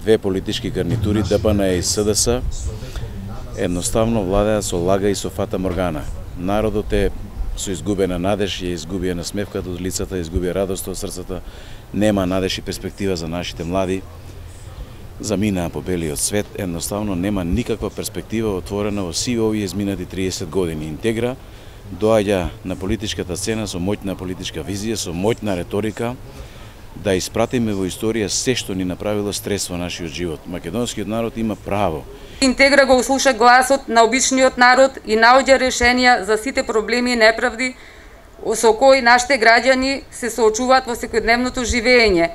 две политички гарнитури, ДПН и СДС, едноставно владеат со лага и со фата моргана. Народот е со изгубена надеж, ја изгубија смевката од лицата, изгубија радост од срцата, нема надеж и перспектива за нашите млади, заминаа по белиот свет, едноставно нема никаква перспектива отворена во сивите овие изминати 30 години. Интегра доаѓа на политичката сцена со моќна политичка визија, со моќна реторика, да испратиме во историја се што ни направило стрес во нашиот живот. Македонскиот народ има право. Интегра го услуша гласот на обичниот народ и наоѓа решенија за сите проблеми и неправди со кои нашите граѓани се соочуваат во секојдневното живење.